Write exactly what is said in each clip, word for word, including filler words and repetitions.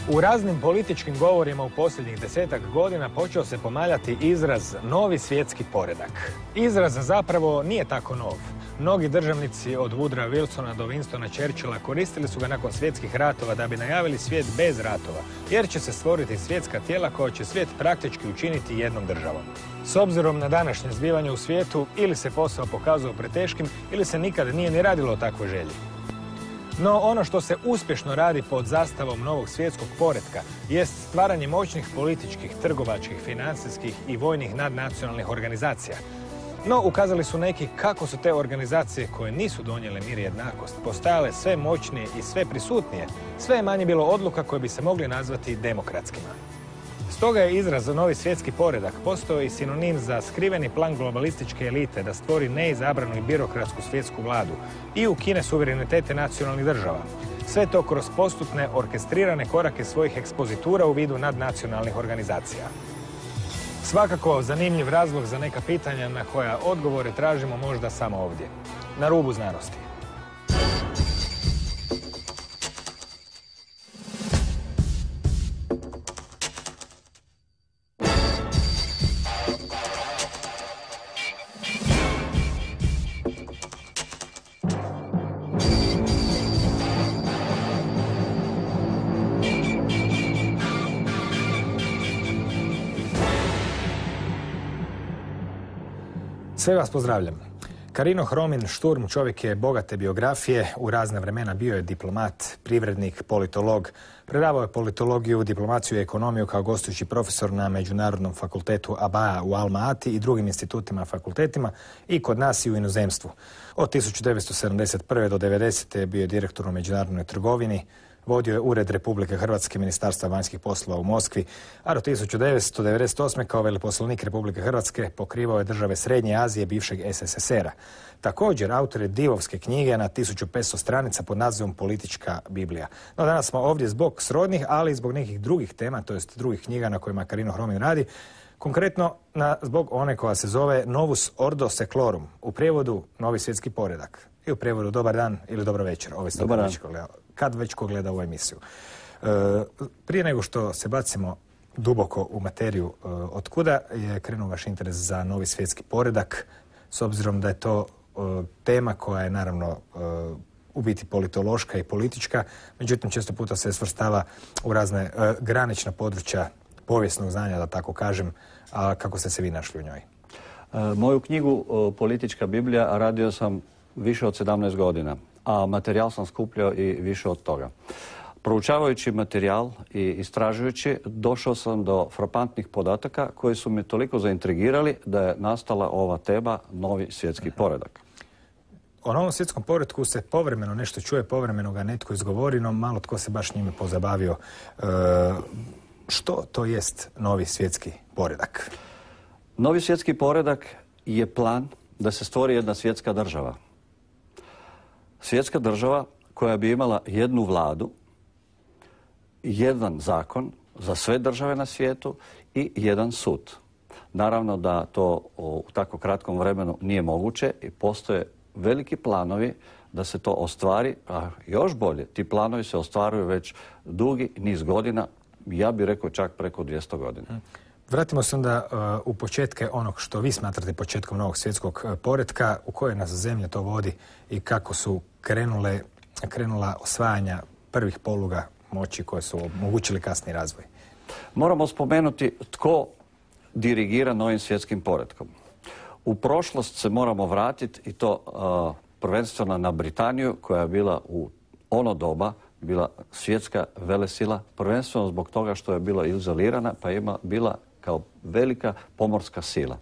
U raznim političkim govorima u posljednjih desetak godina počeo se pomaljati izraz novi svjetski poredak. Izraz zapravo nije tako nov. Mnogi državnici od Woodrowa Wilsona do Winstona Churchilla koristili su ga nakon svjetskih ratova da bi najavili svijet bez ratova, jer će se stvoriti svjetska tijela koja će svijet praktički učiniti jednom državom. S obzirom na današnje zbivanje u svijetu, ili se posao pokazao preteškim, ili se nikad nije ni radilo o takvoj želji. No ono što se uspješno radi pod zastavom novog svjetskog poretka jest stvaranje moćnih političkih, trgovačkih, financijskih i vojnih nadnacionalnih organizacija. No, ukazali su neki kako su te organizacije koje nisu donijele mir i jednakost postajale sve moćnije i sve prisutnije, sve je manje bilo odluka koje bi se mogli nazvati demokratskima. Stoga je izraz za novi svjetski poredak postao i sinonim za skriveni plan globalističke elite da stvori neizabranu i birokratsku svjetsku vladu i ukine suverenitete nacionalnih država. Sve to kroz postupne, orkestrirane korake svojih ekspozitura u vidu nadnacionalnih organizacija. Svakako zanimljiv razlog za neka pitanja na koja odgovore tražimo možda samo ovdje, na rubu znanosti. Sve vas pozdravljam. Carino Hromin Šturm čovjek je bogate biografije, u razne vremena bio je diplomat, privrednik, politolog, predavao je politologiju, diplomaciju i ekonomiju kao gostujući profesor na Međunarodnom fakultetu Abaa u Alma Ati i drugim institutima, fakultetima i kod nas i u inozemstvu. Od tisuću devetsto sedamdeset prve do devedesete bio je direktor u međunarodnoj trgovini, vodio je Ured Republike Hrvatske Ministarstva vanjskih poslova u Moskvi, a do tisuću devetsto devedeset osme kao veleposlanik Republike Hrvatske pokrivao je države Srednje Azije bivšeg S S S R-a. Također, autor je divovske knjige na tisuću petsto stranica pod nazivom Politička Biblija. No danas smo ovdje zbog srodnih, ali i zbog nekih drugih tema, to jest drugih knjiga na kojima Carino Hromin radi, konkretno na, zbog one koja se zove Novus Ordo Seclorum, u prijevodu Novi svjetski poredak. I u prijevodu dobar dan ili dobro večer, ovisno kad već ko gleda, kad već ko gleda ovu emisiju. E, prije nego što se bacimo duboko u materiju e, otkuda je krenuo vaš interes za novi svjetski poredak, s obzirom da je to e, tema koja je naravno e, u biti politološka i politička, međutim često puta se svrstava u razne e, granična područja povijesnog znanja, da tako kažem, a kako ste se vi našli u njoj? E, moju knjigu Politička Biblija radio sam više od sedamnaest godina, a materijal sam skupljao i više od toga. Proučavajući materijal i istražujući, došao sam do frapantnih podataka koji su me toliko zaintrigirali da je nastala ova tema Novi svjetski poredak. O novom svjetskom poretku se povremeno nešto čuje, povremeno ga netko izgovori, no malo tko se baš njime pozabavio. E, što to jest novi svjetski poredak? Novi svjetski poredak je plan da se stvori jedna svjetska država. Svjetska država koja bi imala jednu vladu, jedan zakon za sve države na svijetu i jedan sud. Naravno da to u tako kratkom vremenu nije moguće i postoje veliki planovi da se to ostvari, a još bolje, ti planovi se ostvaruju već dugi niz godina, ja bih rekao čak preko dvjesto godina. Vratimo se onda uh, u početke onog što vi smatrate početkom novog svjetskog uh, poretka, u kojoj nas zemlje to vodi i kako su krenule, krenula osvajanja prvih poluga moći koje su omogućili kasni razvoj. Moramo spomenuti tko dirigira novim svjetskim poretkom. U prošlost se moramo vratiti i to uh, prvenstveno na Britaniju koja je bila u ono doba bila svjetska velesila, prvenstveno zbog toga što je bila izolirana pa je bila kao velika pomorska sila.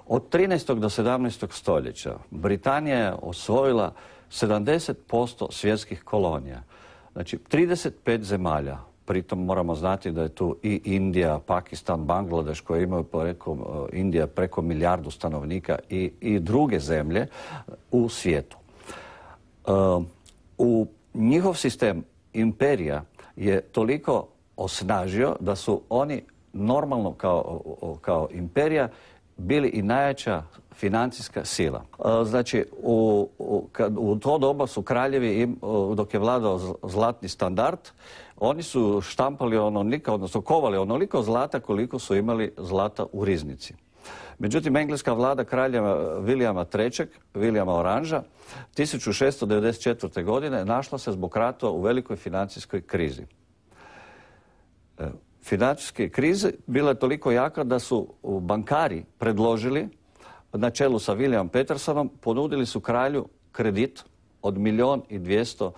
Od trinaestog do sedamnaestog stoljeća Britanija je osvojila sedamdeset posto svjetskih kolonija. Znači trideset pet zemalja, pritom moramo znati da je tu i Indija, Pakistan, Bangladeš koje imaju preko, Indija preko milijardu stanovnika i, i druge zemlje u svijetu. Uh, u njihov sistem imperija je toliko osnažio da su oni normalno kao, kao imperija bili i najjača financijska sila. Znači, u, u, kad, u to doba su kraljevi, im, dok je vladao zlatni standard, oni su štampali onoliko, odnosno kovali onoliko zlata koliko su imali zlata u riznici. Međutim, engleska vlada kraljeva Vilijama trećeg, Vilijama Oranža, tisuću šesto devedeset četvrte. godine našla se zbog rata u velikoj financijskoj krizi. Financijske krize bila je toliko jaka da su bankari predložili, na čelu sa William Petersonom, ponudili su kralju kredit od milijun i dvjesto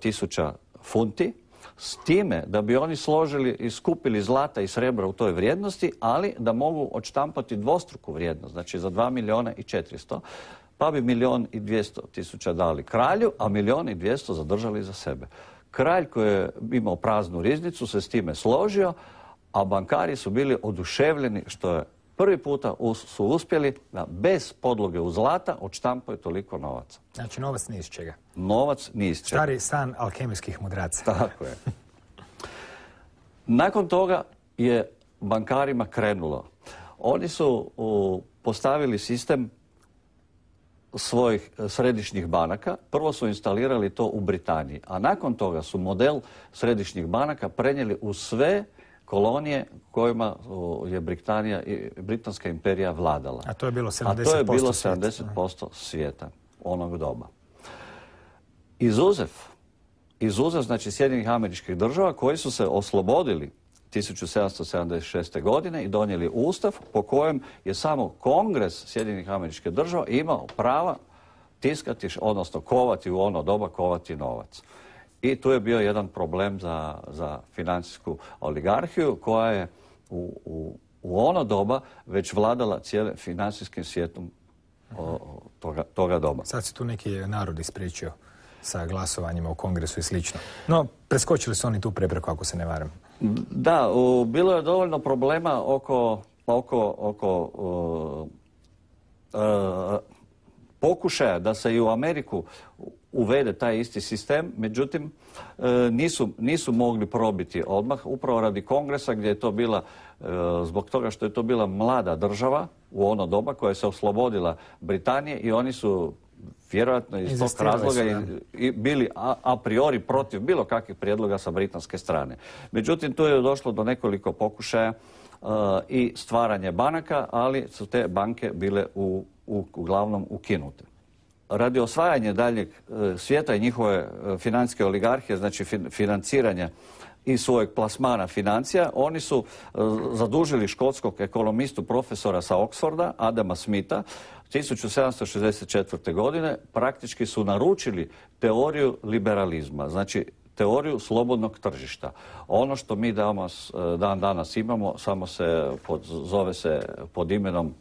tisuća funti, s time da bi oni složili i skupili zlata i srebra u toj vrijednosti, ali da mogu odštampati dvostruku vrijednost, znači za dva milijuna i četiristo, pa bi milijun i dvjesto tisuća dali kralju, a milijun i dvjesto zadržali za sebe. Kralj koji je imao praznu riznicu se s time složio, a bankari su bili oduševljeni što je prvi puta su uspjeli da bez podloge u zlata odštampaju toliko novaca. Znači novac ni iz čega. Novac ni iz čega. Stari san alkemijskih mudraca. Tako je. Nakon toga je bankarima krenulo. Oni su u, postavili sistem svojih središnjih banaka. Prvo su instalirali to u Britaniji, a nakon toga su model središnjih banaka prenijeli u sve kolonije kojima je Britanija i Britanska imperija vladala. A to je bilo sedamdeset posto, a to je bilo svijeta. sedamdeset posto svijeta onog doba. Izuzev, izuzev znači Sjedinjenih Američkih Država koji su se oslobodili tisuću sedamsto sedamdeset šeste. godine i donijeli ustav po kojem je samo Kongres Sjedinjenih Američkih Država imao prava tiskati, odnosno kovati u ono doba, kovati novac. I tu je bio jedan problem za, za financijsku oligarhiju koja je u, u, u ono doba već vladala cijelim financijskim svijetom o, toga, toga doba. Sad se tu neki narod ispriječio sa glasovanjima u Kongresu i slično. No, preskočili su oni tu prepreku, ako se ne varam. Da, u, bilo je dovoljno problema oko, oko, oko uh, uh, pokušaja da se i u Ameriku uvede taj isti sistem, međutim nisu, nisu mogli probiti odmah, upravo radi Kongresa gdje je to bila, zbog toga što je to bila mlada država u ono doba koja se oslobodila Britanije i oni su vjerojatno iz tog razloga i, i bili a, a priori protiv bilo kakvih prijedloga sa britanske strane. Međutim, tu je došlo do nekoliko pokušaja uh, i stvaranje banaka, ali su te banke bile u, u, uglavnom ukinute. Radi osvajanja daljeg svijeta i njihove financijske oligarhije, znači financiranja i svojeg plasmana financija, oni su zadužili škotskog ekonomistu profesora sa Oxforda, Adama Smitha, tisuću sedamsto šezdeset četvrte. godine praktički su naručili teoriju liberalizma, znači teoriju slobodnog tržišta. Ono što mi danas, dan danas imamo, samo se pod, zove se pod imenom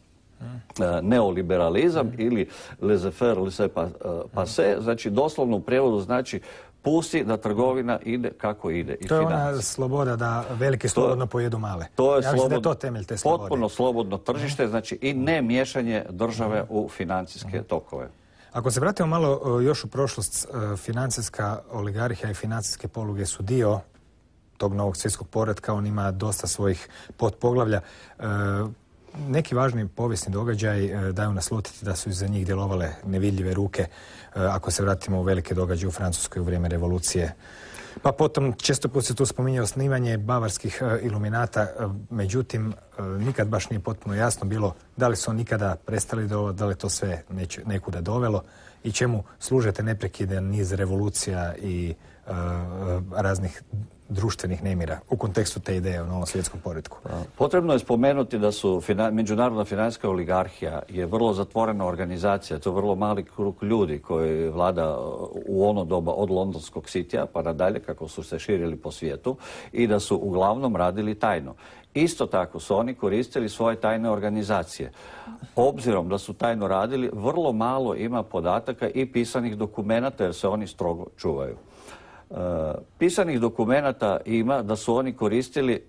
neoliberalizam ili laissez-faire, laissez-passer, znači doslovno u prijevodu znači pusti da trgovina ide kako ide. To je ona sloboda da veliki slobodno pojedu male. To je, ja slobod, da je to temelj te slobode. Potpuno slobodno tržište, znači i ne miješanje države u financijske tokove. Ako se vratimo malo još u prošlost, financijska oligarhija i financijske poluge su dio tog novog svjetskog poretka, on ima dosta svojih potpoglavlja. Neki važni povijesni događaj daju naslutiti da su iza njih djelovale nevidljive ruke, ako se vratimo u velike događaje u Francuskoj u vrijeme revolucije. Pa potom često put se tu spominje osnivanje bavarskih iluminata, međutim nikad baš nije potpuno jasno bilo da li su oni nikada prestali djelovati, da li to sve neće, nekuda dovelo i čemu služe te neprekidan niz revolucija i uh, raznih društvenih nemira u kontekstu te ideje o novom svjetskom poretku. Potrebno je spomenuti da su fina, međunarodna financijska oligarhija je vrlo zatvorena organizacija, to je vrlo mali krug ljudi koji vlada u ono doba od londonskog Cityja pa nadalje kako su se širili po svijetu i da su uglavnom radili tajno. Isto tako su oni koristili svoje tajne organizacije. Obzirom da su tajno radili, vrlo malo ima podataka i pisanih dokumenata jer se oni strogo čuvaju. Uh, pisanih dokumenata ima da su oni koristili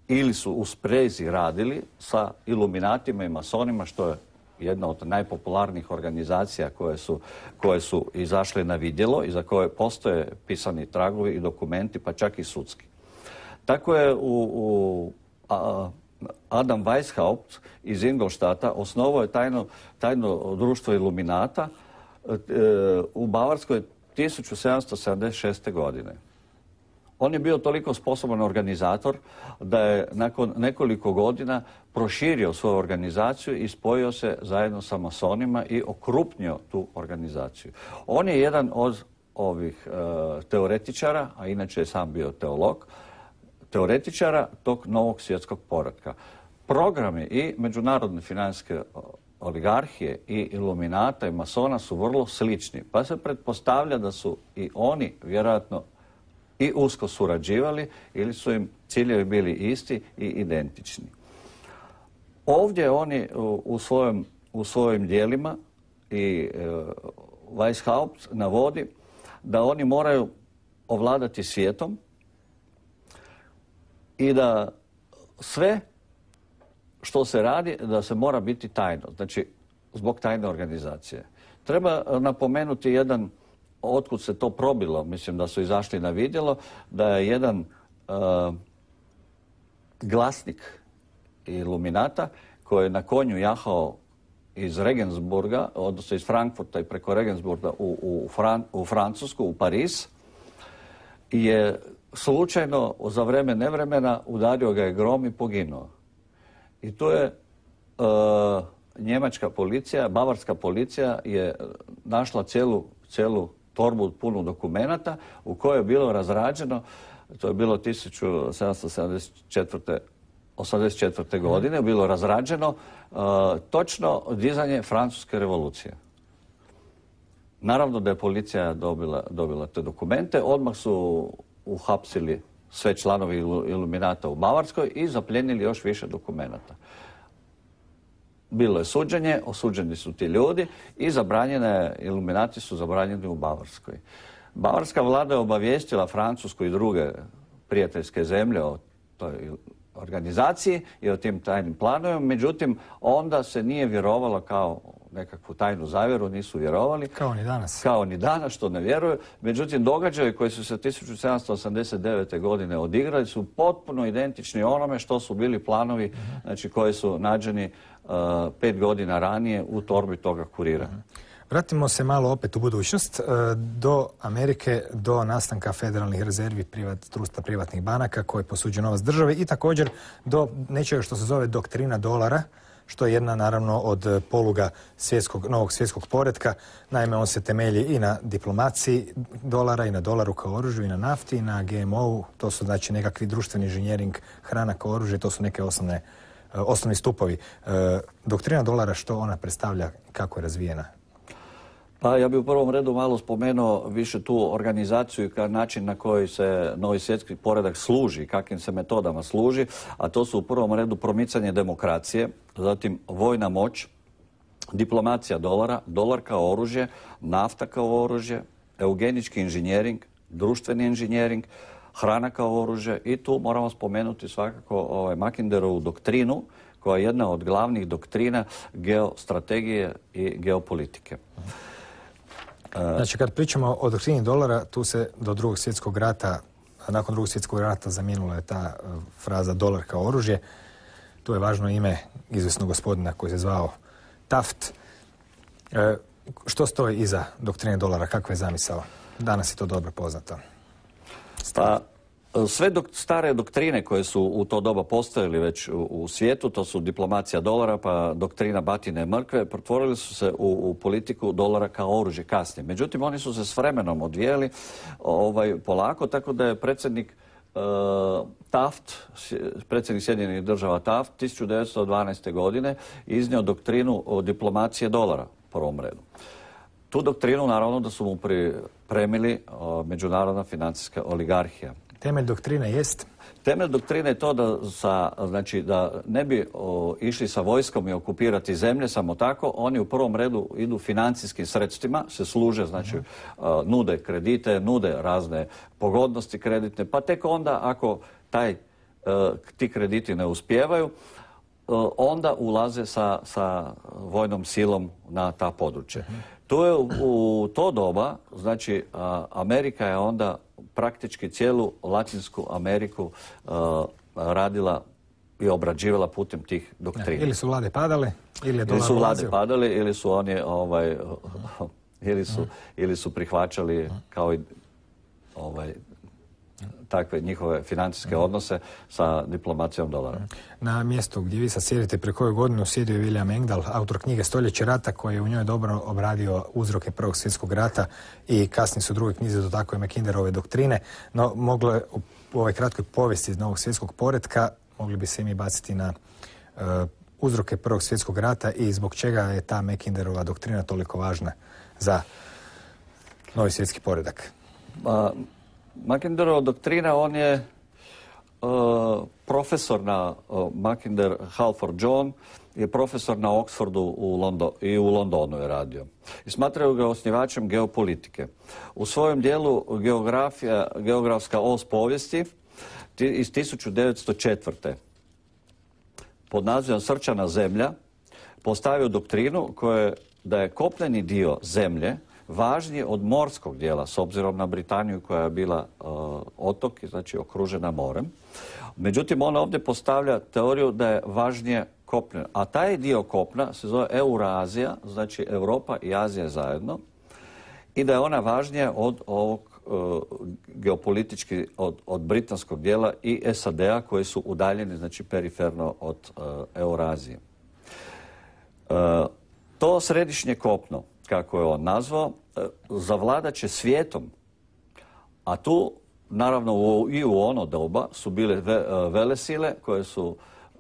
ili su u sprezi radili sa iluminatima i masonima, što je jedna od najpopularnijih organizacija koje su, koje su izašle na vidjelo i za koje postoje pisani tragovi i dokumenti, pa čak i sudski. Tako je u, u a, Adam Weishaupt iz Ingolstadta osnovao je tajno, tajno društvo Iluminata e, u Bavarskoj tisuću sedamsto sedamdeset šeste. godine. On je bio toliko sposoban organizator da je nakon nekoliko godina proširio svoju organizaciju i spojio se zajedno sa masonima i okrupnio tu organizaciju. On je jedan od ovih e, teoretičara, a inače je sam bio teolog, teoretičara tog novog svjetskog poretka. Programi i međunarodne financijske oligarhije i iluminata i masona su vrlo slični, pa se pretpostavlja da su i oni vjerojatno i usko surađivali ili su im ciljevi bili isti i identični. Ovdje oni u, u, svojim, u svojim dijelima i e, Weishaupt navodi da oni moraju ovladati svijetom i da sve što se radi da se mora biti tajno, znači zbog tajne organizacije. Treba napomenuti jedan, otkud se to probilo, mislim da su izašli na vidjelo, da je jedan uh, glasnik Iluminata koji je na konju jahao iz Regensburga, odnosno iz Frankfurta i preko Regensburga u, u, Fran, u Francusku, u Pariz, je slučajno za vreme nevremena udario ga je grom i poginuo. I tu je uh, njemačka policija, bavarska policija je našla cijelu, cijelu torbu punu dokumenata u kojoj je bilo razrađeno, to je bilo tisuću sedamsto sedamdeset četvrte. osamdeset četvrte. godine, bilo razrađeno uh, točno dizanje Francuske revolucije. Naravno da je policija dobila, dobila te dokumente, odmah su uhapsili sve članovi Iluminata u Bavarskoj i zapljenili još više dokumenata. Bilo je suđenje, osuđeni su ti ljudi i zabranjene, Iluminati su zabranjeni u Bavarskoj. Bavarska vlada je obavijestila Francusku i druge prijateljske zemlje o toj organizaciji i o tim tajnim planovima, međutim onda se nije vjerovalo kao nekakvu tajnu zavjeru, nisu vjerovali. Kao ni danas. Kao ni danas, što ne vjeruju. Međutim, događaji koji su se tisuću sedamsto osamdeset devete. godine odigrali su potpuno identični onome što su bili planovi, uh-huh. znači koji su nađeni uh, pet godina ranije u torbi toga kurira. Uh-huh. Vratimo se malo opet u budućnost, do Amerike, do nastanka federalnih rezervi privat, društva privatnih banaka koje posuđuju novac države i također do nečega što se zove doktrina dolara, što je jedna naravno od poluga svjetskog, novog svjetskog poretka. Naime, on se temelji i na diplomaciji dolara i na dolaru kao oružju i na nafti i na G M O-u. To su znači nekakvi društveni inženjering, hrana kao oružje, to su neke osnovne, osnovni stupovi. Doktrina dolara, što ona predstavlja, kako je razvijena? Pa ja bih u prvom redu malo spomenuo više tu organizaciju i način na koji se novi svjetski poredak služi, kakvim se metodama služi, a to su u prvom redu promicanje demokracije, zatim vojna moć, diplomacija dolara, dolar kao oružje, nafta kao oružje, eugenički inženjering, društveni inženjering, hrana kao oružje i tu moramo spomenuti svakako ovaj Mackinderovu doktrinu koja je jedna od glavnih doktrina geostrategije i geopolitike. Znači, kad pričamo o doktrini dolara, tu se do drugog svjetskog rata, nakon drugog svjetskog rata zamijenila je ta fraza dolar kao oružje. Tu je važno ime izvjesnog gospodina koji se zvao Taft. E, što stoji iza doktrine dolara? Kakva je zamisao? Danas je to dobro poznato. Pa, sve dok, stare doktrine koje su u to doba postojali već u, u svijetu, to su diplomacija dolara, pa doktrina batine mrkve, pretvorili su se u, u politiku dolara kao oružje kasnije. Međutim, oni su se s vremenom odvijeli ovaj, polako, tako da je predsjednik uh, Taft, predsjednik Sjedinjenih država Taft, tisuću devetsto dvanaeste. godine iznio doktrinu o diplomacije dolara u prvom redu. Tu doktrinu, naravno, da su mu pripremili uh, međunarodna financijska oligarhija. Temelj doktrine jest? Temelj doktrine je to da, sa, znači, da ne bi o, išli sa vojskom i okupirati zemlje samo tako. Oni u prvom redu idu financijskim sredstvima, se služe, znači uh-huh. uh, nude kredite, nude razne pogodnosti kreditne, pa tek onda ako taj, uh, ti krediti ne uspijevaju, uh, onda ulaze sa, sa vojnom silom na ta područja. Uh-huh. To je u, u to doba, znači uh, Amerika je onda praktički cijelu Latinsku Ameriku uh, radila je obrađivala putem tih doktrina. Ili su vlade padale, ili je dolar Ili su vlade ulazio. padale, ili su oni ovaj, ili su, ili su prihvaćali kao i ovaj, takve njihove financijske odnose sa diplomacijom dolara. Na mjestu gdje vi sad sjedite pre koju godinu sjedio je William Engdahl, autor knjige Stoljeće rata, koji je u njoj dobro obradio uzroke Prvog svjetskog rata i kasnije su u drugoj knjizi dotakao je Mackinderove doktrine, no moglo je u ovoj kratkoj povijesti iz Novog svjetskog poretka mogli bi se i mi baciti na uh, uzroke Prvog svjetskog rata i zbog čega je ta Mackinderova doktrina toliko važna za novi svjetski poredak. Ma, Mackinderova doktrina, on je uh, profesor na uh, Mackinder, Halford John, je profesor na Oxfordu u Londo, i u Londonu je radio. I smatraju ga osnivačem geopolitike. U svojem dijelu geografija, geografska os povijesti iz tisuću devetsto četvrte. pod nazivom Srčana zemlja postavio doktrinu koja da je kopneni dio zemlje važniji od morskog dijela, s obzirom na Britaniju koja je bila uh, otok, znači okružena morem. Međutim, on ovdje postavlja teoriju da je važnije kopne. A taj dio kopna se zove Eurazija, znači Europa i Azija zajedno, i da je ona važnija od ovog uh, geopolitički, od, od britanskog dijela i S A D-a koji su udaljeni, znači periferno od uh, Eurazije. Uh, to središnje kopno, kako je on nazvao, zavladat će svijetom. A tu, naravno, u, i u ono doba su bile ve, velesile koje su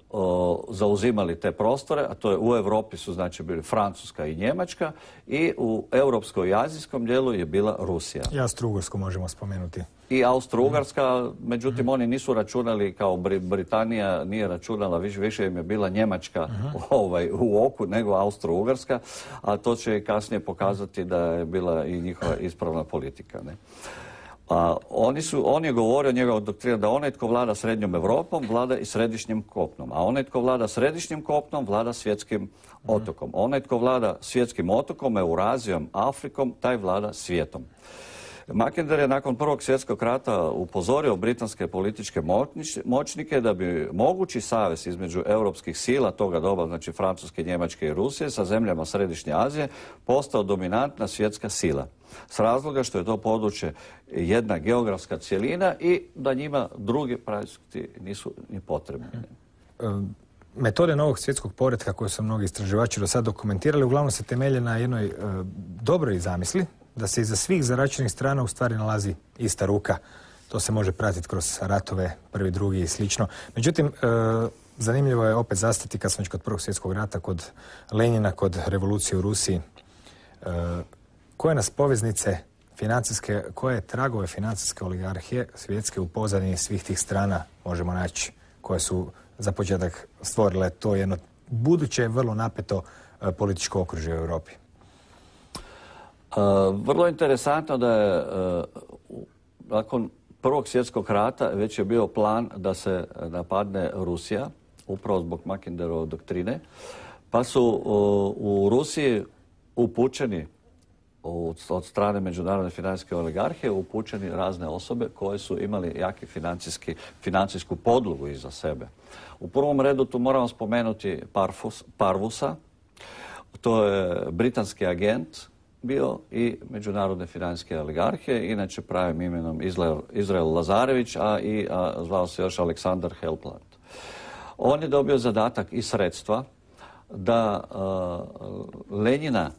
o, zauzimali te prostore, a to je u Europi su znači bili Francuska i Njemačka i u europskom i azijskom dijelu je bila Rusija. I Austro-Ugarsku možemo spomenuti. I Austro-Ugarska, međutim mm. oni nisu računali kao Britanija nije računala, više, više im je bila Njemačka mm. ovaj, u oku nego Austro-Ugarska, a to će kasnije pokazati da je bila i njihova ispravna politika. Ne? A oni su, on je govorio, njegova doktrina, da onaj tko vlada srednjom Europom, vlada i središnjim kopnom. A onaj tko vlada središnjim kopnom, vlada svjetskim otokom. Onaj tko vlada svjetskim otokom, Eurazijom, Afrikom, taj vlada svijetom. Mackinder je nakon Prvog svjetskog rata upozorio britanske političke moćnike da bi mogući savez između europskih sila toga doba, znači Francuske, Njemačke i Rusije, sa zemljama Središnje Azije, postao dominantna svjetska sila. S razloga što je to područje jedna geografska cjelina i da njima drugi projekti nisu ni potrebni. Metode novog svjetskog poretka koje su mnogi istraživači do sad dokumentirali uglavnom se temelje na jednoj e, dobroj zamisli da se iza svih zaračenih strana u stvari nalazi ista ruka. To se može pratiti kroz ratove, prvi, drugi i slično. Međutim, e, zanimljivo je opet zastati kad smo već kod Prvog svjetskog rata, kod Lenjina, kod revolucije u Rusiji. E, koje nas poveznice financijske, koje tragove financijske oligarhije svjetske u pozadini svih tih strana možemo naći koje su za početak stvorile to jedno buduće vrlo napeto e, političko okružje u Europi? Uh, vrlo interesantno da je uh, nakon Prvog svjetskog rata već je bio plan da se napadne Rusija, upravo zbog Mackinderove doktrine, pa su uh, u Rusiji upućeni od, od strane međunarodne financijske oligarhije upućeni razne osobe koje su imali jaki financijski, financijsku podlogu iza sebe. U prvom redu tu moramo spomenuti Parfus, Parvusa, to je britanski agent bio i međunarodne financijske oligarhije, inače pravim imenom Izrael, Izrael Lazarević, a i a, zvao se još Aleksandar Helpland. On je dobio zadatak i sredstva da a, Lenjina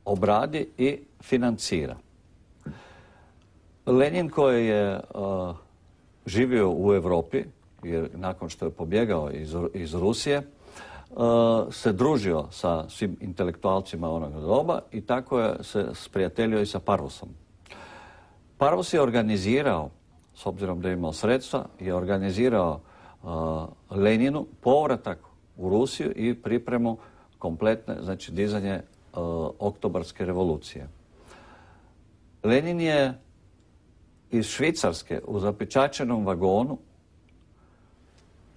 obradi i financira. Lenin koji je a, živio u Europi, jer nakon što je pobjegao iz, iz Rusije, Uh, se družio sa svim intelektualcima onoga doba i tako je se sprijateljio i sa Parvusom. Parvus je organizirao, s obzirom da je imao sredstva, je organizirao uh, Leninu povratak u Rusiju i pripremu kompletne, znači dizanje uh, oktobarske revolucije. Lenin je iz Švicarske u zapečaćenom vagonu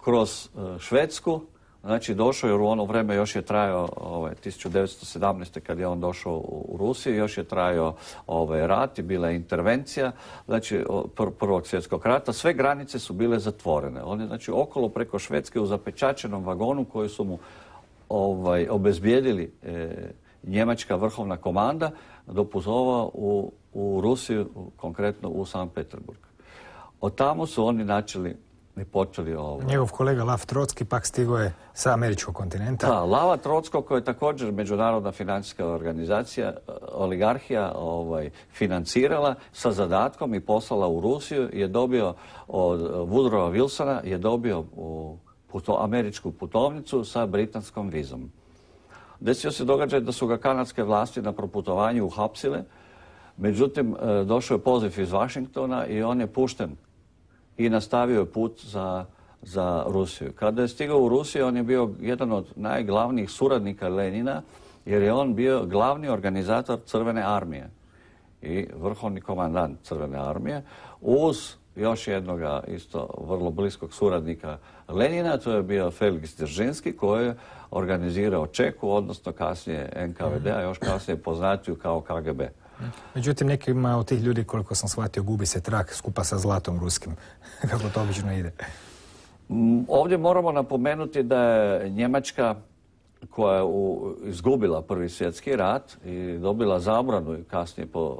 kroz uh, Švedsku znači došao jer u ono vrijeme još je trajao ovaj, tisuću devetsto sedamnaeste. kad je on došao u, u Rusiju, još je trajao ovaj, rat i bila je intervencija znači, pr prvog svjetskog rata. Sve granice su bile zatvorene. On je znači, okolo preko Švedske u zapečačenom vagonu koji su mu ovaj, obezbijedili e, njemačka vrhovna komanda doputovao u, u Rusiju, konkretno u Sankt Peterburg. Od tamo su oni načeli i počeli ovo. Njegov kolega Lav Trotski pak stigao je sa američkog kontinenta. Da, Lava Trotsko, koja je također međunarodna financijska organizacija, oligarhija ovaj, financirala sa zadatkom i poslala u Rusiju, je dobio od Woodrowa Wilsona, je dobio u puto, američku putovnicu sa britanskom vizom. Desio se događaj da su ga kanadske vlasti na proputovanju uhapsile, međutim došao je poziv iz Washingtona i on je pušten i nastavio je put za, za Rusiju. Kada je stigao u Rusiju, on je bio jedan od najglavnijih suradnika Lenina, jer je on bio glavni organizator Crvene armije i vrhovni komandant Crvene armije, uz još jednoga isto vrlo bliskog suradnika Lenina, to je bio Felix Dzeržinski, koji je organizirao Čeku, odnosno kasnije N K V D, a još kasnije poznatiju kao K G B. Međutim, nekima od tih ljudi, koliko sam shvatio, gubi se trak skupa sa zlatom ruskim. Kako to obično ide? Ovdje moramo napomenuti da je Njemačka, koja je u, izgubila Prvi svjetski rat i dobila zabranu i kasnije po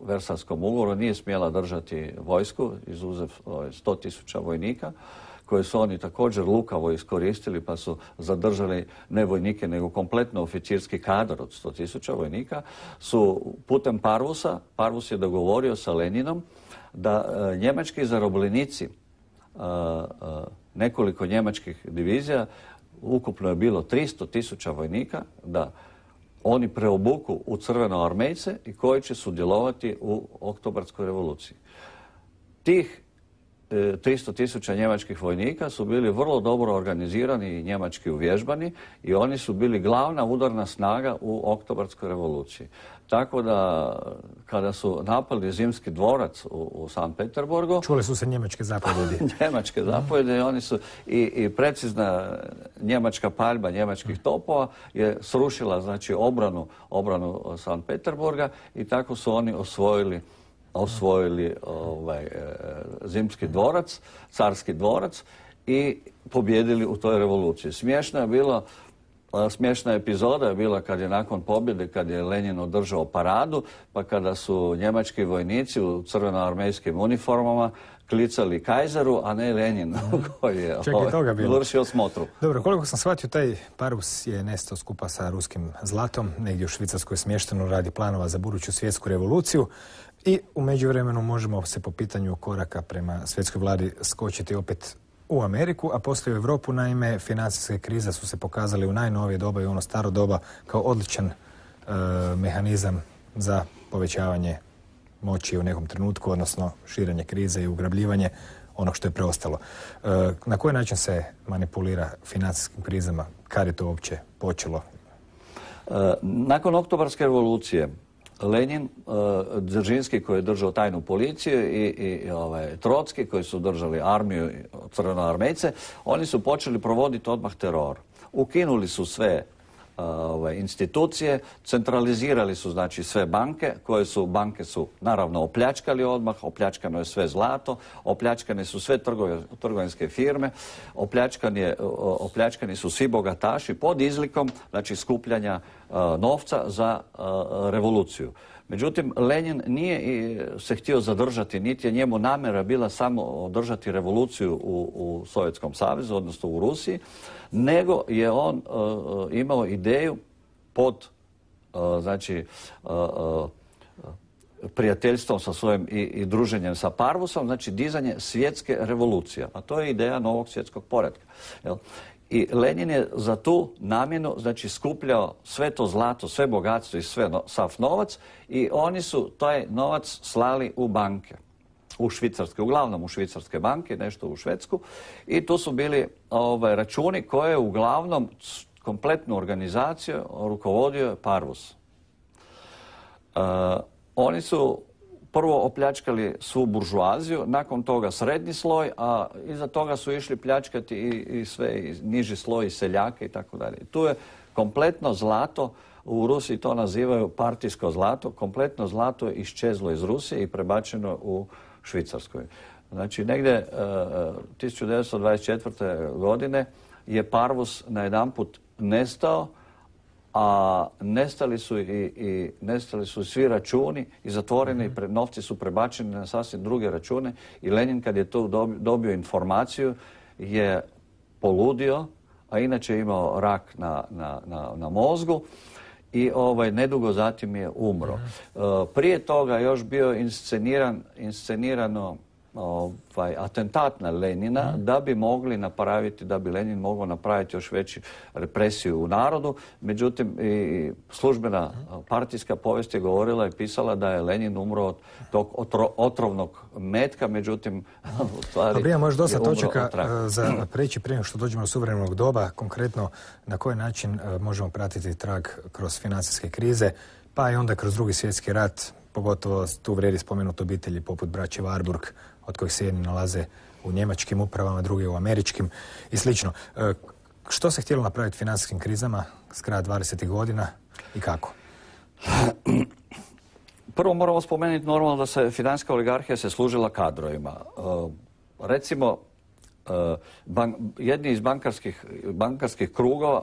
Versajskom ugovoru, nije smjela držati vojsku, izuzev sto tisuća vojnika, koje su oni također lukavo iskoristili, pa su zadržali ne vojnike, nego kompletno oficirski kadar od sto tisuća vojnika, su putem Parvusa, Parvus je dogovorio sa Leninom da e, njemački zarobljenici, e, e, nekoliko njemačkih divizija, ukupno je bilo tristo tisuća vojnika, da oni preobuku u crvenoarmejce i koji će sudjelovati u Oktobarskoj revoluciji. Tih tristo tisuća njemačkih vojnika su bili vrlo dobro organizirani i njemački uvježbani i oni su bili glavna udarna snaga u Oktobarskoj revoluciji. Tako da kada su napali Zimski dvorac u, u Sankt Peterburgu... Čule su se njemačke zapovjedi. njemačke zapovjedi i oni su i, i precizna njemačka paljba njemačkih topova je srušila znači obranu, obranu Sankt Peterburga i tako su oni osvojili osvojili ovaj, Zimski dvorac, carski dvorac i pobjedili u toj revoluciji. Smiješna je bila, smiješna epizoda je bila kad je nakon pobjede, kad je Lenin održao paradu, pa kada su njemački vojnici u crvenoarmejskim uniformama klicali Kajzeru, a ne Lenin koji je ovaj, vršio smotru. Dobro, koliko sam shvatio, taj Parvus je nestao skupa sa ruskim zlatom, negdje u Švicarskoj smješteno radi planova za buduću svjetsku revoluciju. I u međuvremenu možemo se po pitanju koraka prema svjetskoj vladi skočiti opet u Ameriku, a poslije u Europu. Naime, financijske krize su se pokazali u najnovije doba i ono staro doba kao odličan e, mehanizam za povećavanje moći u nekom trenutku, odnosno širenje krize i ugrabljivanje onog što je preostalo. E, na koji način se manipulira financijskim krizama? Kad je to uopće počelo? E, nakon Oktobarske revolucije Lenin, Dzeržinski koji je držao tajnu policiju i, i ovaj, Trotski koji su držali armiju, crvenoarmejce, oni su počeli provoditi odmah teror. Ukinuli su sve ovaj, institucije, centralizirali su znači sve banke, koje su banke su naravno opljačkali odmah, opljačkano je sve zlato, opljačkane su sve trgove, trgovinske firme, opljačkani, je, opljačkani su svi bogataši pod izlikom znači skupljanja uh, novca za uh, revoluciju. Međutim, Lenin nije se htio zadržati, niti je njemu namjera bila samo održati revoluciju u, u Sovjetskom savezu, odnosno u Rusiji, nego je on uh, imao ideju pod uh, znači, uh, uh, prijateljstvom sa svojim i, i druženjem sa Parvusom, znači dizanje svjetske revolucije. A to je ideja novog svjetskog poretka. Jel? I Lenin je za tu namjenu znači, skupljao sve to zlato, sve bogatstvo i sve no, sav novac i oni su taj novac slali u banke. U švicarske, uglavnom u švicarske banke, nešto u Švedsku. I tu su bili ovaj, računi koje uglavnom kompletnu organizaciju rukovodio Parvus. Uh, oni su prvo opljačkali svu buržuaziju, nakon toga srednji sloj, a iza toga su išli pljačkati i, i sve i niži sloj i seljake i tako dalje. Tu je kompletno zlato, u Rusiji to nazivaju partijsko zlato, kompletno zlato je iščezlo iz Rusije i prebačeno u Švicarskoj. Znači, negdje tisuću devetsto dvadeset četvrte. godine je Parvus najedanput nestao, a nestali su i, i nestali su svi računi i zatvoreni, mm-hmm. novci su prebačeni na sasvim druge račune i Lenin kad je to dobio informaciju je poludio, a inače je imao rak na, na, na, na mozgu i ovaj, nedugo zatim je umro. Mm-hmm. Uh, prije toga još bio insceniran, inscenirano ovaj, atentat na Lenina mm. da bi mogli napraviti, da bi Lenin mogao napraviti još veću represiju u narodu. Međutim, i službena mm. partijska povijest je govorila i pisala da je Lenin umro od tog otro, otrovnog metka, međutim, u stvari Dobro, ima još dosta točaka za preći prije što dođemo do suvremenog doba. Konkretno, na koji način možemo pratiti trag kroz financijske krize, pa i onda kroz Drugi svjetski rat, pogotovo tu vrijedi spomenuti obitelji poput braće Warburg, od kojih se jedni nalaze u njemačkim upravama, drugi u američkim i slično. Što se htjelo napraviti financijskim krizama s kraja dvadesetih godina i kako? Prvo moramo spomenuti normalno da se financijska oligarhija se služila kadrovima. Recimo, ban, jedni iz bankarskih, bankarskih krugova,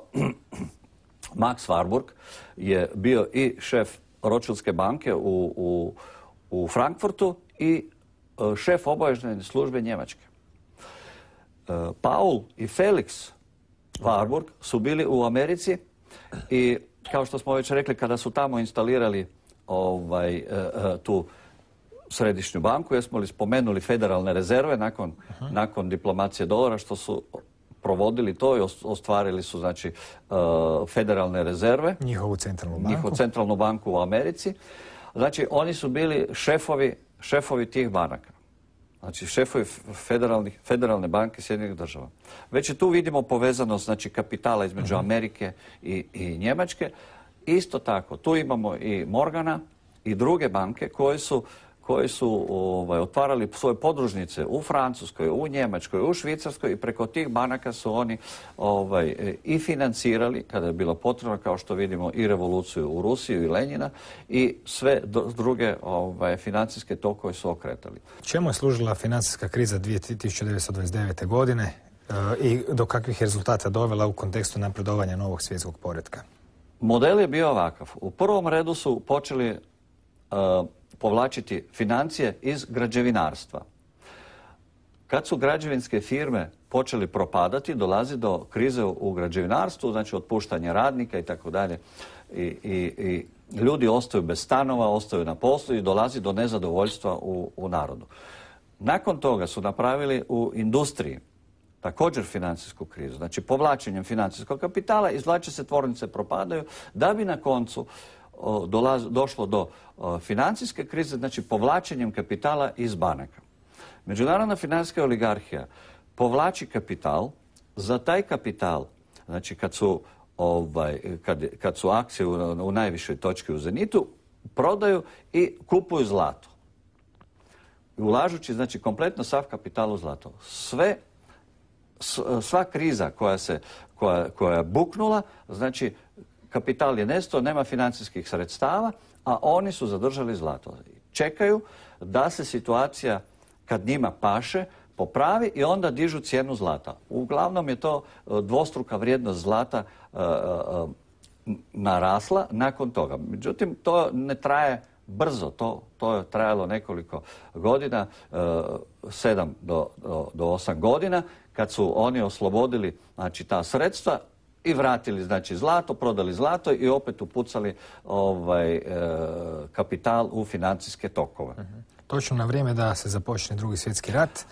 Max Warburg, je bio i šef Rothschildske banke u, u, u Frankfurtu i šef obavještajne službe Njemačke. Paul i Felix Warburg su bili u Americi i kao što smo već rekli, kada su tamo instalirali ovaj, tu središnju banku, jesmo li spomenuli federalne rezerve nakon, uh-huh. nakon diplomacije dolara, što su provodili to i ostvarili su znači federalne rezerve. Njihovu centralnu banku. Njihovu centralnu banku u Americi. Znači, oni su bili šefovi, šefovi tih banaka. Znači, šefovi federalne banke Sjedinjenih država. Već tu vidimo povezanost znači, kapitala između uh-huh. Amerike i, i Njemačke. Isto tako, tu imamo i Morgana i druge banke koje su koji su ovaj, otvarali svoje podružnice u Francuskoj, u Njemačkoj, u Švicarskoj i preko tih banaka su oni ovaj, i financirali, kada je bilo potrebno, kao što vidimo, i revoluciju u Rusiju i Lenjina i sve druge ovaj, financijske tokove su okretali. Čemu je služila financijska kriza tisuću devetsto dvadeset devete. godine e, i do kakvih rezultata dovela u kontekstu napredovanja novog svjetskog poretka? Model je bio ovakav. U prvom redu su počeli uh, povlačiti financije iz građevinarstva. Kad su građevinske firme počeli propadati, dolazi do krize u građevinarstvu, znači otpuštanje radnika i tako dalje. I, i ljudi ostaju bez stanova, ostaju na poslu i dolazi do nezadovoljstva u, u narodu. Nakon toga su napravili u industriji također financijsku krizu. Znači povlačenjem financijskog kapitala izvlače se tvornice, propadaju, da bi na koncu Dolaz, došlo do o, financijske krize, znači povlačenjem kapitala iz banaka. Međunarodna financijska oligarhija povlači kapital, za taj kapital, znači kad su, ovaj, kad, kad su akcije u, u najvišoj točki u zenitu, prodaju i kupuju zlato. Ulažući, znači, kompletno sav kapital u zlato. Sve, sva kriza koja se, koja, koja je buknula, znači, kapital je nestao, nema financijskih sredstava, a oni su zadržali zlato. Čekaju da se situacija, kad njima paše, popravi i onda dižu cijenu zlata. Uglavnom je to dvostruka vrijednost zlata uh, uh, narasla nakon toga. Međutim, to ne traje brzo. To, to je trajalo nekoliko godina, uh, sedam do, do, do osam godina, kad su oni oslobodili znači, ta sredstva i vratili znači zlato, prodali zlato i opet upucali ovaj, e, kapital u financijske tokove. Uh-huh. Točno na vrijeme da se započne Drugi svjetski rat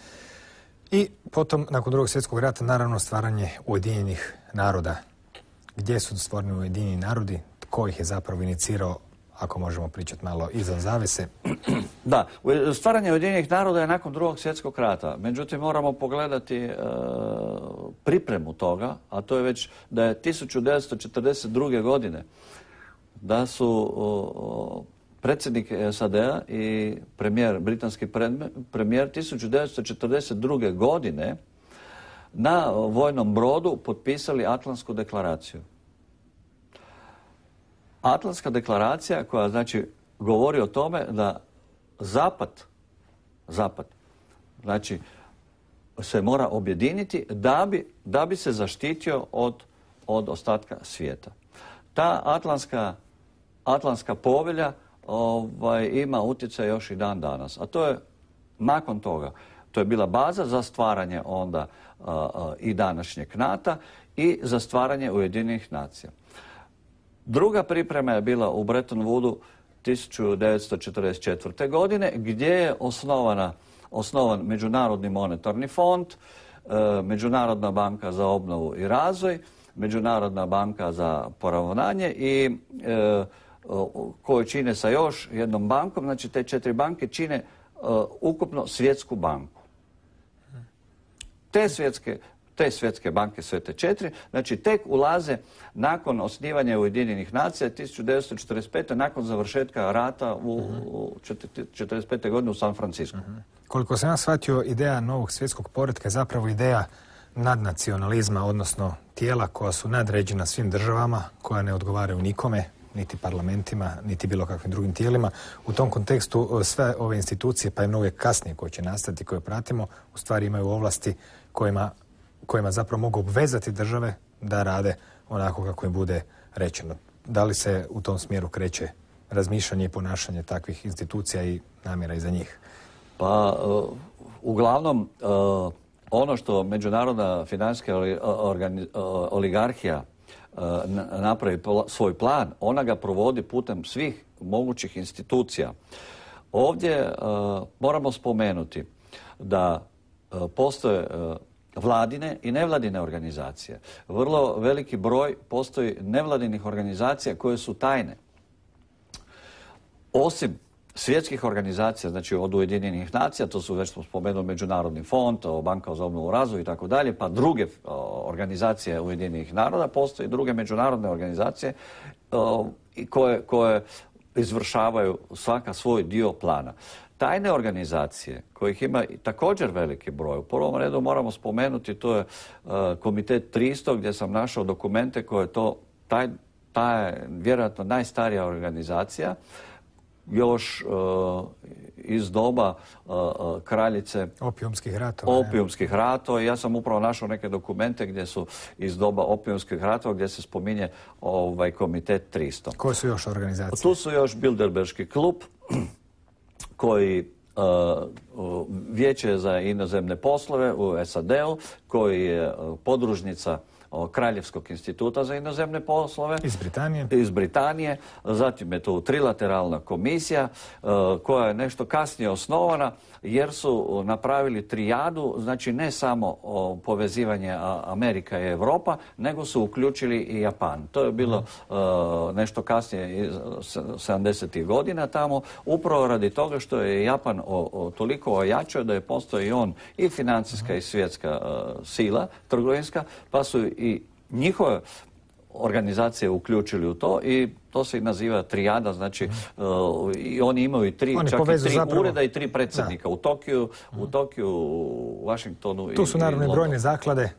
i potom nakon Drugog svjetskog rata naravno stvaranje Ujedinjenih naroda. Gdje su stvoreni Ujedinjeni narodi? Tko ih je zapravo inicirao, ako možemo pričati malo izvan zavese? Da, stvaranje Ujedinjenih naroda je nakon Drugog svjetskog rata. Međutim, moramo pogledati e, pripremu toga, a to je već da je tisuću devetsto četrdeset druge. godine da su o, predsjednik S A D-a i premijer, britanski premijer tisuću devetsto četrdeset druge. godine na vojnom brodu potpisali Atlantsku deklaraciju. Atlantska deklaracija koja znači govori o tome da Zapad, Zapad, znači se mora objediniti da bi, da bi se zaštitio od, od ostatka svijeta. Ta Atlantska, Atlantska povelja ovaj, ima utjecaj još i dan danas. A to je nakon toga. To je bila baza za stvaranje onda a, a, i današnjeg NATO-a i za stvaranje Ujedinjenih nacija. Druga priprema je bila u Bretton Woodu tisuću devetsto četrdeset četvrte. godine gdje je osnovana, osnovan Međunarodni monetarni fond, e, Međunarodna banka za obnovu i razvoj, Međunarodna banka za poravnanje i e, koju čine sa još jednom bankom, znači te četiri banke čine uh, ukupno svjetsku banku. Te svjetske, te svjetske banke, sve te četiri, znači tek ulaze nakon osnivanja Ujedinjenih nacija tisuću devetsto četrdeset pete. nakon završetka rata u, u četrdeset pete. godine u San Francisco. Uh-huh. Koliko sam ja shvatio, ideja novog svjetskog poretka je zapravo ideja nadnacionalizma, odnosno tijela koja su nadređena svim državama, koja ne odgovaraju nikome, niti parlamentima, niti bilo kakvim drugim tijelima. U tom kontekstu sve ove institucije, pa i mnoge kasnije koje će nastati, koje pratimo, u stvari imaju ovlasti kojima, kojima zapravo mogu obvezati države da rade onako kako im bude rečeno. Da li se u tom smjeru kreće razmišljanje i ponašanje takvih institucija i namjera iza njih? Pa, uh, uglavnom, uh, ono što međunarodna financijska oligarhija napravi svoj plan, ona ga provodi putem svih mogućih institucija. Ovdje uh, moramo spomenuti da uh, postoje uh, vladine i nevladine organizacije. Vrlo veliki broj postoji nevladinih organizacija koje su tajne. Osim svjetskih organizacija, znači od Ujedinjenih nacija, to su već smo spomenuli Međunarodni fond, Banka za obnovu i razvoj i tako dalje, pa druge organizacije Ujedinjenih naroda, postoje druge međunarodne organizacije koje, koje izvršavaju svaka svoj dio plana. Tajne organizacije, kojih ima također veliki broj, u prvom redu moramo spomenuti, to je Komitet tristo, gdje sam našao dokumente koje je to, taj, taj, vjerojatno najstarija organizacija, još uh, iz doba uh, kraljice opijumskih ratova. Opijumskih ratova. Ja sam upravo našao neke dokumente gdje su iz doba opijumskih ratova gdje se spominje ovaj Komitet tristo. Koje su još organizacije? Tu su još Bilderberški klub koji uh, Vijeće za inozemne poslove u S A D-u, koji je uh, podružnica Kraljevskog instituta za inozemne poslove. Iz Britanije. Iz Britanije. Zatim je tu trilateralna komisija koja je nešto kasnije osnovana jer su napravili trijadu, znači ne samo povezivanje Amerika i Europa, nego su uključili i Japan. To je bilo uh, nešto kasnije sedamdesetih godina tamo, upravo radi toga što je Japan o, o, toliko ojačao da je postoji on i financijska i svjetska uh, sila, trgovinska, pa su i njihove organizacije uključili u to i to se i naziva trijada, znači uh, i oni imaju i tri, oni čak i tri zapravo ureda i tri predsjednika. U Tokiju, u Tokiju, u Washingtonu. Tu su naravno i brojne zaklade,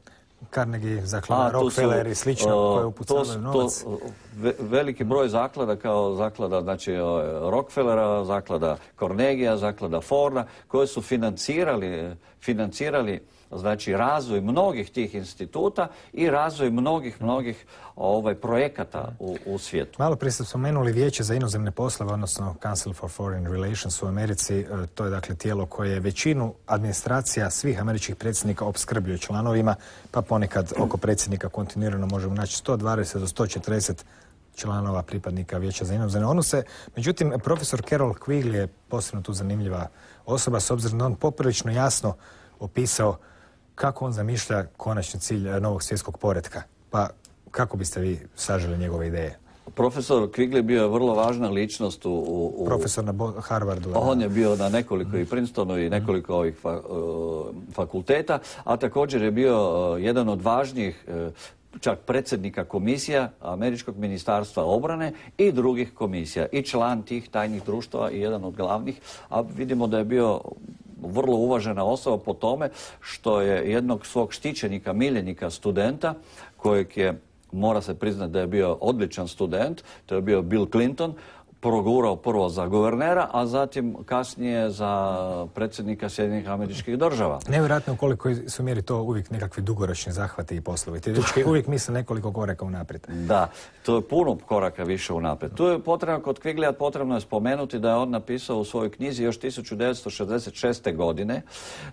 Carnegie, zaklada Rockefeller i slično, koje upucavaju novac. To, ve, veliki broj zaklada kao zaklada, znači Rockefellera, zaklada Carnegiea, zaklada Forda, koje su financirali, financirali znači razvoj mnogih tih instituta i razvoj mnogih, mnogih ovaj, projekata u, u svijetu. Malo prije ste spomenuli Vijeće za inozemne poslove, odnosno Council for Foreign Relations u Americi. To je dakle tijelo koje većinu administracija svih američkih predsjednika opskrbljuje članovima, pa ponekad oko predsjednika kontinuirano možemo naći sto dvadeset do sto četrdeset članova pripadnika Vijeća za inozemne odnose. Međutim, profesor Carroll Quigley je posebno tu zanimljiva osoba, s obzirom da on poprilično jasno opisao kako on zamišlja konačni cilj novog svjetskog poretka. Pa kako biste vi saželi njegove ideje? Profesor Quigley bio je vrlo važna ličnost u... u Profesor na Harvardu. On je bio na nekoliko i Princetonu i nekoliko ovih fa, uh, fakulteta, a također je bio uh, jedan od važnijih uh, čak predsjednika komisija Američkog ministarstva obrane i drugih komisija i član tih tajnih društava i jedan od glavnih, a vidimo da je bio vrlo uvažena osoba po tome što je jednog svog štićenika, miljenika studenta, kojeg je, mora se priznati da je bio odličan student, to je bio Bill Clinton, progurao prvo za guvernera, a zatim kasnije za predsjednika Sjedinjenih Američkih Država. Nevjerojatno u koliko su mjeri to uvijek nekakvi dugoročni zahvati i poslovi. Ti dečki uvijek misle nekoliko koraka unaprijed. Da, to je puno koraka više unaprijed. Tu je potrebno, kod Quigleyja potrebno je spomenuti da je on napisao u svojoj knjizi još tisuću devetsto šezdeset šeste. godine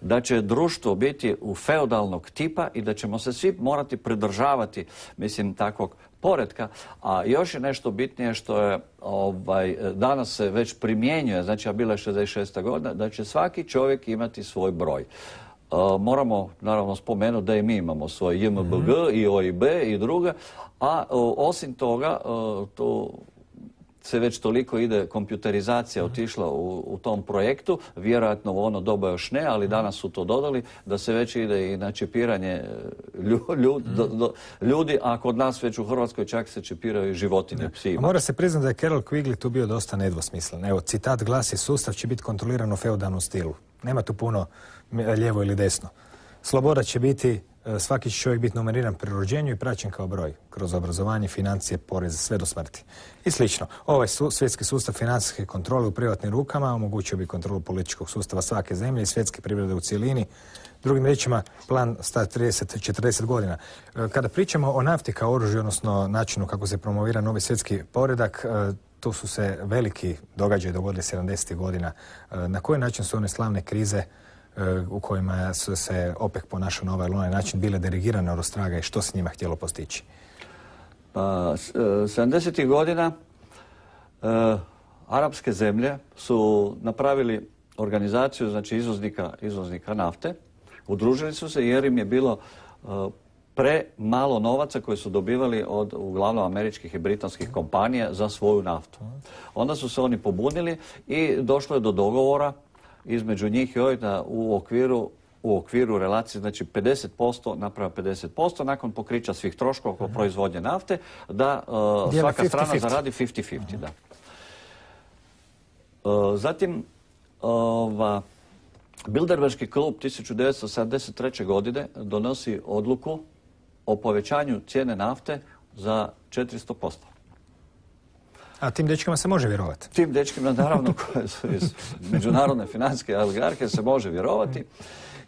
da će društvo biti u feudalnog tipa i da ćemo se svi morati pridržavati, mislim, takvog poretka, a još je nešto bitnije što je ovaj, danas se već primjenjuje, znači a bila je šezdeset šesta. godina, da će svaki čovjek imati svoj broj. Uh, moramo naravno spomenuti da i mi imamo svoj J M B G mm-hmm. i O I B i druga, a uh, osim toga uh, to se već toliko ide, kompjuterizacija otišla u, u tom projektu, vjerojatno u ono doba još ne, ali danas su to dodali, da se već ide i na čipiranje ljudi, do, do, ljudi, a kod nas već u Hrvatskoj čak se čipiraju i životinje, psi. Mora se priznati da je Carroll Quigley tu bio dosta nedvosmislen. Evo, citat glasi: sustav će biti kontroliran u feudalnom stilu. Nema tu puno lijevo ili desno. Sloboda će biti, svaki će čovjek biti numeriran pri rođenju i praćen kao broj, kroz obrazovanje, financije, poreze, sve do smrti. I slično. Ovaj su, svjetski sustav financijske kontrole u privatnim rukama omogućio bi kontrolu političkog sustava svake zemlje i svjetske privrede u cijelini. Drugim riječima, plan star trideset do četrdeset godina. Kada pričamo o nafti kao oružju, odnosno načinu kako se promovira novi svjetski poredak, tu su se veliki događaji dogodili sedamdesetih godina. Na koji način su one slavne krize u kojima su se OPEC ponašao na ovaj ili onaj način bile dirigirane od ostraga i što se njima htjelo postići? Pa, sedamdesetih godina e, arapske zemlje su napravili organizaciju, znači izvoznika, izvoznika nafte. Udružili su se jer im je bilo e, pre malo novaca koje su dobivali od uglavnom američkih i britanskih kompanija za svoju naftu. Onda su se oni pobunili i došlo je do dogovora između njih i ovih da u okviru, u okviru relacije, znači pedeset posto naprava pedeset posto nakon pokrića svih troškova oko proizvodnje nafte, da uh, svaka strana fifty fifty zaradi fifty fifty. Da. Uh, zatim, uh, Bilderberški klub tisuću devetsto sedamdeset treće. godine donosi odluku o povećanju cijene nafte za četiristo posto. A tim dečkima se može vjerovati? Tim dečkima, naravno, koje su iz međunarodne financijske oligarhije, se može vjerovati.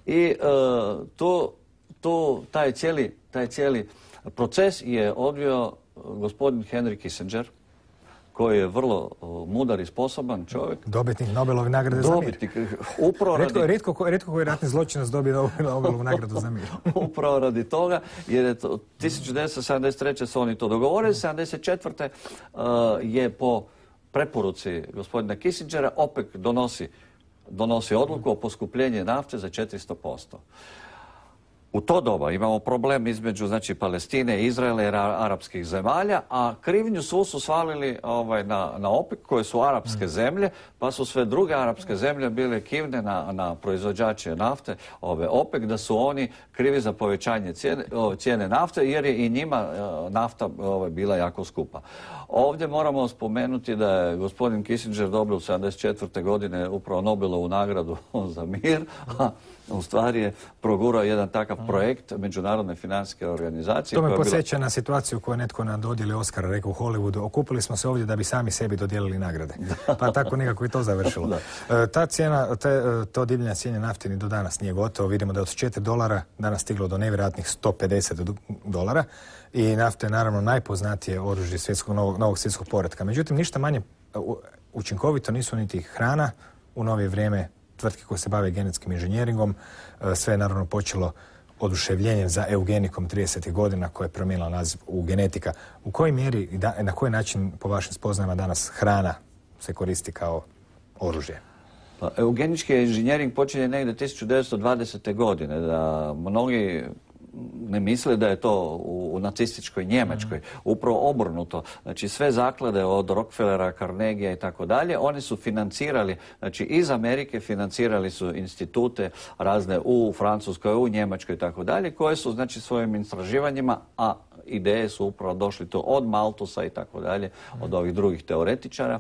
I uh, tu, tu taj, cijeli, taj cijeli proces je odvio gospodin Henry Kissinger, koji je vrlo uh, mudar i sposoban čovjek. Dobitnik Nobelove nagrade za mir. Dobitnik, upravo radi... Rijetko, rijetko, rijetko koji ratni zločinac dobio Nobelovu nagradu za mir. Upravo radi toga, jer je to tisuću devetsto sedamdeset treće. su oni to dogovorili, sedamdeset četvrte. Uh, je po preporuci gospodina Kissingera OPEC donosi, donosi odluku o poskupljenju nafte za četiristo posto. U to doba imamo problem između, znači, Palestine, Izraela i arapskih zemalja, a krivnju svu su svalili ovaj, na, na OPEC, koje su arapske zemlje, pa su sve druge arapske zemlje bile kivne na, na proizvođače nafte, ove OPEC, da su oni krivi za povećanje cijene, cijene nafte, jer je i njima nafta ovaj, bila jako skupa. Ovdje moramo spomenuti da je gospodin Kissinger dobio u sedamdeset četvrte. godine upravo Nobelovu nagradu za mir, a u stvari je progurao jedan takav projekt Međunarodne financijske organizacije. To me podsjeća na situaciju koju je netko na dodjeli Oscara rekao u Hollywoodu: okupili smo se ovdje da bi sami sebi dodijelili nagrade. Pa tako nekako i to završilo. Da. Ta cijena, te, to divljenje cijene nafte ni do danas nije gotovo. Vidimo da je od četiri dolara danas stiglo do nevjerojatnih sto pedeset dolara i nafta je naravno najpoznatije oružje svjetskog, novog, novog svjetskog poretka. Međutim, ništa manje učinkovito nisu niti hrana u novije vrijeme, tvrtke koje se bave genetskim inženjeringom. Sve je naravno počelo oduševljenjem za eugenikom tridesetih godina koja je promijenila naziv u genetika. U kojoj mjeri i na koji način po vašim spoznajama danas hrana se koristi kao oružje? Pa, eugenički inženjering počinje negdje tisuću devetsto dvadesete. godine. Da mnogi ne misle da je to u, u nacističkoj Njemačkoj. Upravo obrnuto. Znači sve zaklade od Rockefellera, Carnegia i tako dalje, oni su financirali, znači iz Amerike financirali su institute razne u Francuskoj, u Njemačkoj i tako dalje, koje su znači svojim istraživanjima, a ideje su upravo došli to od Maltusa i tako dalje, od ovih drugih teoretičara,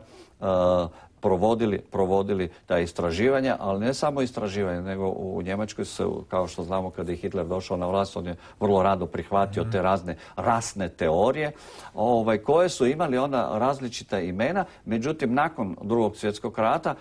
provodili, provodili ta istraživanja, ali ne samo istraživanja, nego u Njemačkoj se, kao što znamo, kada je Hitler došao na vlast, on je vrlo rado prihvatio te razne rasne teorije, ovaj, koje su imali onda različita imena. Međutim, nakon drugog svjetskog rata,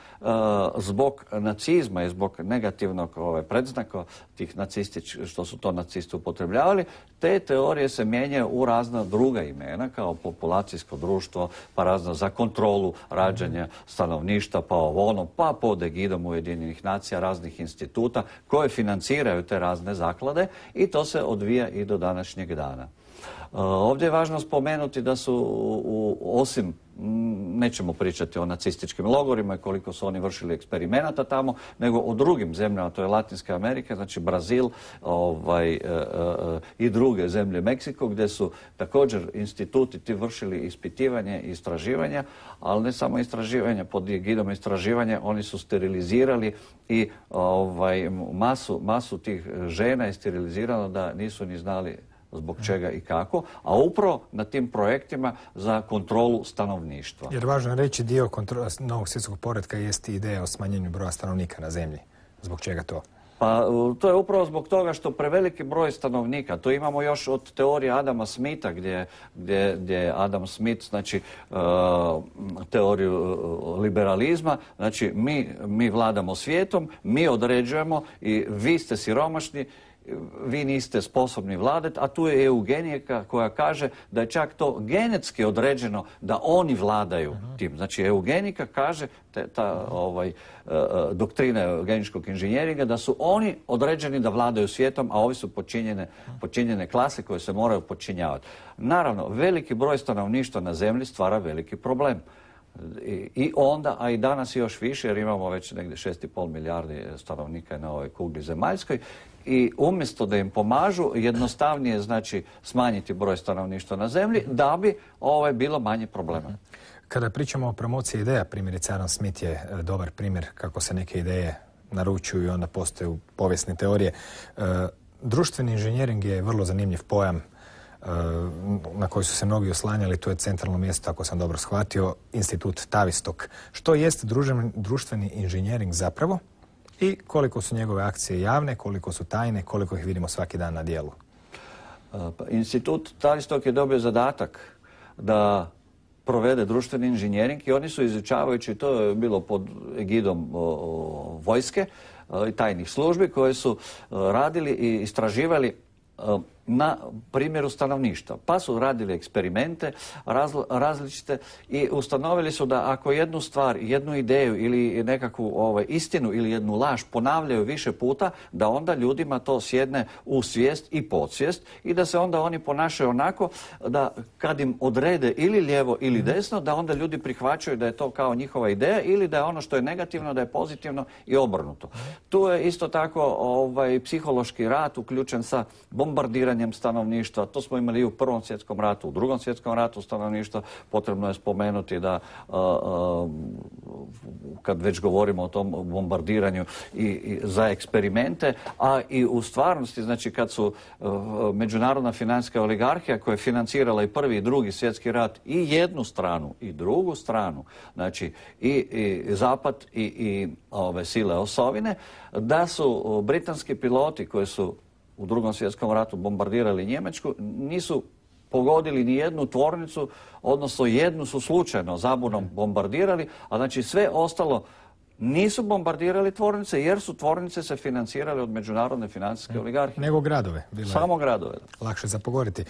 zbog nacizma i zbog negativnog ovaj, predznaka tih nacističkih, što su to nacisti upotrebljavali, te teorije se mijenjaju u razna druga imena, kao populacijsko društvo, pa razna za kontrolu rađanja stanovništva, pa ovo ono, pa pod egidom Ujedinjenih nacija, raznih instituta koje financiraju te razne zaklade i to se odvija i do današnjeg dana. Ovdje je važno spomenuti da su, u, osim, nećemo pričati o nacističkim logorima i koliko su oni vršili eksperimenata tamo, nego o drugim zemljama, to je Latinska Amerika, znači Brazil ovaj, e, e, i druge zemlje, Meksiko, gdje su također instituti ti vršili ispitivanje i istraživanja, ali ne samo istraživanja, pod egidom istraživanja oni su sterilizirali i ovaj, masu, masu tih žena je sterilizirano da nisu ni znali zbog čega i kako, a upravo na tim projektima za kontrolu stanovništva. Jer važno je reći, dio novog svjetskog poretka jest ideja o smanjenju broja stanovnika na zemlji. Zbog čega to? Pa to je upravo zbog toga što preveliki broj stanovnika, to imamo još od teorije Adama Smitha, gdje, gdje, gdje Adam Smith, znači uh, teoriju uh, liberalizma, znači mi, mi vladamo svijetom, mi određujemo i vi ste siromašni, vi niste sposobni vladati, a tu je eugenijka koja kaže da je čak to genetski određeno da oni vladaju uh-huh. tim. Znači eugenika kaže, te, ta ovaj, uh, doktrina eugeničkog inženjeringa, da su oni određeni da vladaju svijetom, a ovi su počinjene, počinjene klase koje se moraju počinjavati. Naravno, veliki broj stanovništva na zemlji stvara veliki problem. I, I onda, a i danas još više, jer imamo već negdje šest i pol milijardi stanovnika na ovoj kugli zemaljskoj, i umjesto da im pomažu, jednostavnije znači smanjiti broj stanovništva na zemlji da bi ovaj, bilo manje problema. Kada pričamo o promociji ideja, primjerice Adam Smith je dobar primjer kako se neke ideje naručuju i onda postaju povijesne teorije. Društveni inženjering je vrlo zanimljiv pojam na koji su se mnogi oslanjali. To je centralno mjesto, ako sam dobro shvatio, institut Tavistock. Što jest društveni inženjering zapravo? I koliko su njegove akcije javne, koliko su tajne, koliko ih vidimo svaki dan na dijelu? Institut Tavistock je dobio zadatak da provede društveni inženjering i oni su izučavajući, to je bilo pod egidom o, o, vojske i tajnih službi koje su radili i istraživali na primjeru stanovništva. Pa su radili eksperimente razli, različite i ustanovili su da ako jednu stvar, jednu ideju ili nekakvu ovaj, istinu ili jednu laž ponavljaju više puta, da onda ljudima to sjedne u svijest i podsvijest i da se onda oni ponašaju onako da kad im odrede ili lijevo ili desno, da onda ljudi prihvaćaju da je to kao njihova ideja ili da je ono što je negativno, da je pozitivno i obrnuto. Tu je isto tako ovaj, psihološki rat uključen sa bombardiranjem stanovništva. To smo imali i u Prvom svjetskom ratu, u Drugom svjetskom ratu stanovništva. Potrebno je spomenuti da uh, uh, kad već govorimo o tom bombardiranju i, i za eksperimente, a i u stvarnosti, znači kad su uh, međunarodna financijska oligarhija koja je financirala i Prvi i Drugi svjetski rat i jednu stranu i drugu stranu, znači i, i Zapad i, i ove sile osovine, da su britanski piloti koji su u Drugom svjetskom ratu bombardirali Njemačku, nisu pogodili ni jednu tvornicu, odnosno jednu su slučajno zabunom bombardirali, a znači sve ostalo nisu bombardirali tvornice jer su tvornice se financirale od međunarodne financijske oligarhije. Nego gradove. Bilo Samo gradove. Lakše za pogoditi.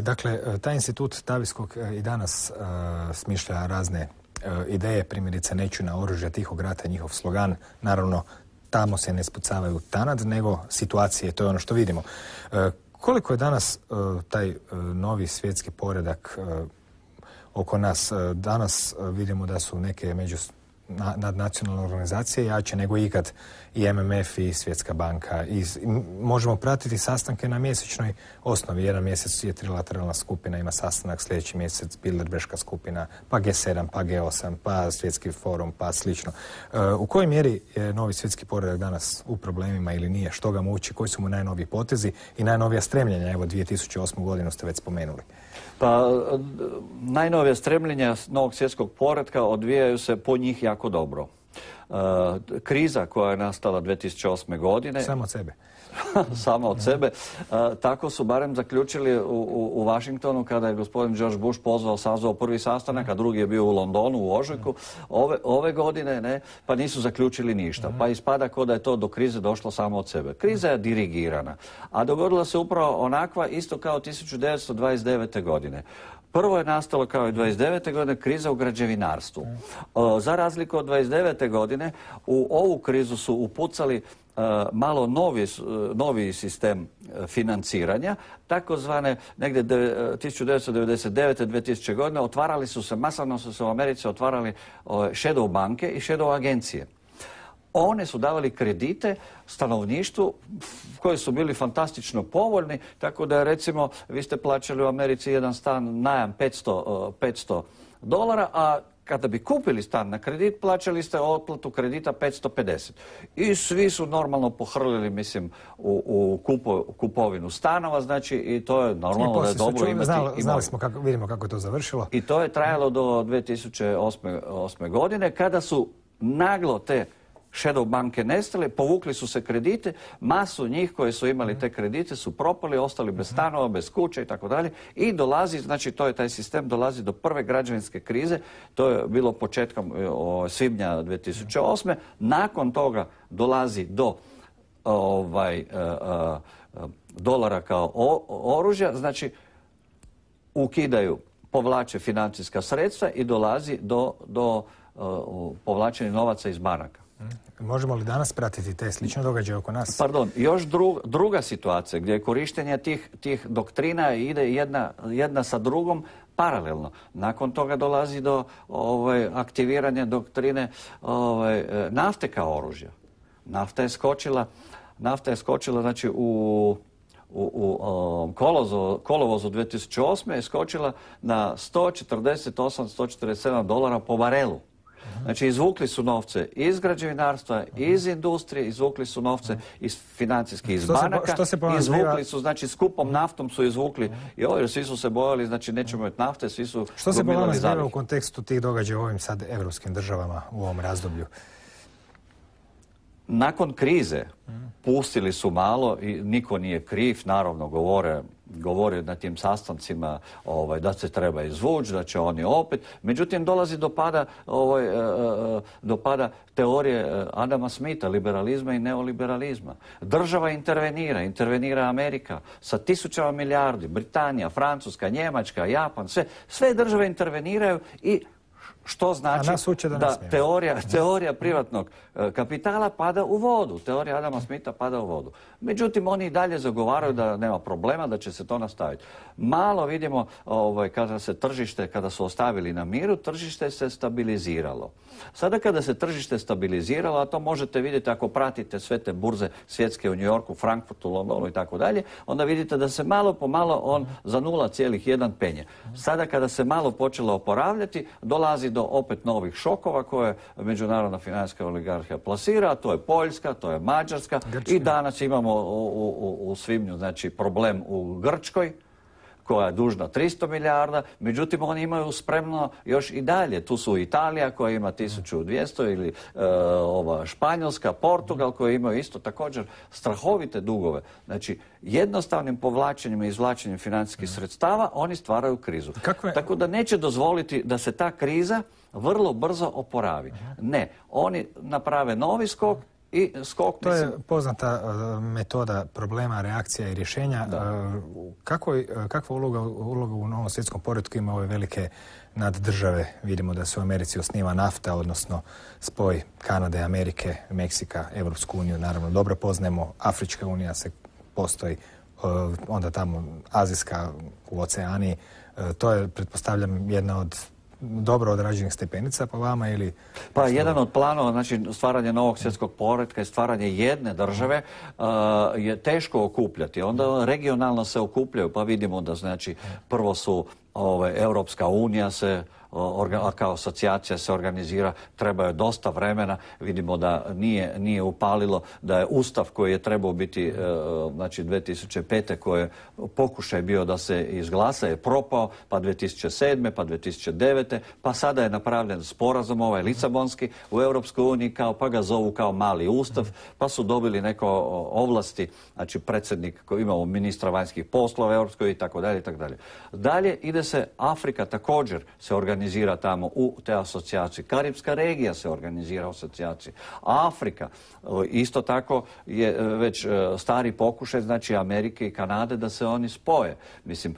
Dakle, taj institut Tavistock i danas smišlja razne ideje, primjerice neću na oružje tihog rata, njihov slogan, naravno tamo se ne spucavaju tanad, nego situacije, to je ono što vidimo. E, koliko je danas e, taj e, novi svjetski poredak e, oko nas? E, danas e, vidimo da su neke među nadnacionalne organizacije jače nego ikad i M M F i Svjetska banka. I možemo pratiti sastanke na mjesečnoj osnovi. Jedan mjesec je trilateralna skupina, ima sastanak, sljedeći mjesec Bilderberška skupina, pa G sedam, pa G osam, pa Svjetski forum, pa slično. U kojoj mjeri je novi svjetski poredak danas u problemima ili nije? Što ga muči? Koji su mu najnoviji potezi i najnovija stremljenja? Evo, dvije tisuće osmu godinu ste već spomenuli. Pa, najnovija stremljenja novog svjetskog poretka odvijaju se po njih jako dobro. Uh, kriza koja je nastala dvije tisuće osme. godine... Samo od sebe. Samo od sebe. Uh, tako su barem zaključili u, u, u Washingtonu kada je gospodin George Bush pozvao, sazvao prvi sastanak, a drugi je bio u Londonu u ožujku ove, ove godine, ne, pa nisu zaključili ništa. Pa ispada kao da je to do krize došlo samo od sebe. Kriza je dirigirana, a dogodila se upravo onakva isto kao tisuću devetsto dvadeset devete. godine. Prvo je nastalo kao i dvadeset devete. godine kriza u građevinarstvu. Za razliku od dvadeset devete. godine u ovu krizu su upucali malo novi, novi sistem financiranja, takozvane negdje tisuću devetsto devedeset devete. dvije tisuće. godine otvarali su se, masovno su se u Americi otvarali shadow banke i shadow agencije. One su davali kredite stanovništvu koji su bili fantastično povoljni, tako da recimo vi ste plaćali u Americi jedan stan najam petsto dolara, a kada bi kupili stan na kredit, plaćali ste otplatu kredita petsto pedeset. I svi su normalno pohrlili, mislim, u, u kupo, kupovinu stanova, znači, i to je normalno da je dobro imati. Znali, znali smo kako, vidimo kako je to završilo. I to je trajalo do dvije tisuće osme. godine, kada su naglo te shadow banke nestale, povukli su se kredite, masu njih koji su imali te kredite su propali, ostali bez stanova, bez kuće i tako dalje. I dolazi, znači to je taj sistem, dolazi do prve građevinske krize, to je bilo početkom o, svibnja dvije tisuće osme. Nakon toga dolazi do ovaj, a, a, dolara kao o, oružja, znači ukidaju, povlače financijska sredstva i dolazi do, do a, povlačenja novaca iz banaka. Možemo li danas pratiti te slične događaje oko nas? Pardon, još dru, druga situacija gdje je korištenje tih, tih doktrina ide jedna, jedna sa drugom paralelno. Nakon toga dolazi do ovaj, aktiviranja doktrine ovaj, nafte kao oružja. Nafta je skočila, nafta je skočila znači u u, u um, kolovozu, kolovozu dvije tisuće osme. je skočila na sto četrdeset osam do sto četrdeset sedam dolara po barelu. Znači, izvukli su novce iz građevinarstva, iz industrije, izvukli su novce iz financijskih iz banaka, izvukli su, znači, skupom naftom su izvukli, i ovo, jer svi su se bojali, znači, nećemo imati nafte, svi su gomilali Što se po vama zbiva u kontekstu tih događaja u ovim sad evropskim državama u ovom razdoblju? Nakon krize pustili su malo i niko nije kriv, naravno govore, govore na tim sastancima ovaj, da se treba izvući, da će oni opet. Međutim, dolazi do pada, ovaj, do pada teorije Adama Smitha, liberalizma i neoliberalizma. Država intervenira, intervenira Amerika sa tisućama milijardi, Britanija, Francuska, Njemačka, Japan, sve, sve države interveniraju i što znači da, da teorija, teorija privatnog kapitala pada u vodu. Teorija Adama Smitha pada u vodu. Međutim, oni i dalje zagovaraju da nema problema, da će se to nastaviti. Malo vidimo, ovaj, kada se tržište, kada su ostavili na miru, tržište se stabiliziralo. Sada kada se tržište stabiliziralo, a to možete vidjeti ako pratite sve te burze svjetske u New Yorku, Frankfurtu, Londonu i tako dalje, onda vidite da se malo po malo on za nula zarez jedan penje. Sada kada se malo počelo oporavljati, dolazi do opet novih šokova koje međunarodna financijska oligarhija plasira, to je Poljska, to je Mađarska. Grčka. I danas imamo u, u, u svibnju znači, problem u Grčkoj koja je dužna tristo milijarda, međutim oni imaju spremno još i dalje. Tu su Italija koja ima tisuću dvjesto ili e, ova Španjolska, Portugal koji imaju isto također strahovite dugove. Znači jednostavnim povlačenjem i izvlačenjem financijskih sredstava oni stvaraju krizu. Kakve... Tako da neće dozvoliti da se ta kriza vrlo brzo oporavi. Ne, oni naprave novi skok i skok, to je poznata uh, metoda problema, reakcija i rješenja. Uh, kako, kakva uloga, uloga u novom svjetskom poretku ima ove velike naddržave? Vidimo da se u Americi osniva nafta, odnosno spoj Kanade, Amerike, Meksika, Evropsku uniju. Naravno, dobro poznajemo, Afrička unija se postoji, uh, onda tamo Azijska u Oceaniji. Uh, to je, pretpostavljam, jedna od dobro odrađenih stepenica po vama ili... Pa jedan od planova, znači stvaranje novog svjetskog poretka i stvaranje jedne države uh, je teško okupljati. Onda regionalno se okupljaju, pa vidimo da znači prvo su ove, Europska unija se Orga, kao asocijacija se organizira, treba je dosta vremena, vidimo da nije, nije upalilo, da je Ustav koji je trebao biti e, znači dvije tisuće pete koji je pokušaj bio da se izglasa je propao, pa dvije tisuće sedme, pa dvije tisuće devete, pa sada je napravljen sporazum ovaj Lisabonski u Europskoj uniji kao, pa ga zovu kao mali Ustav, pa su dobili neko ovlasti, znači predsjednik koji imamo ministra vanjskih poslova Europskoj i tako dalje i tako dalje. Dalje ide se Afrika također se organizira organizira tamo u te asocijacije. Karibska regija se organizira u asocijaciji. Afrika, isto tako je već stari pokušaj, znači Amerike i Kanade da se oni spoje. Mislim,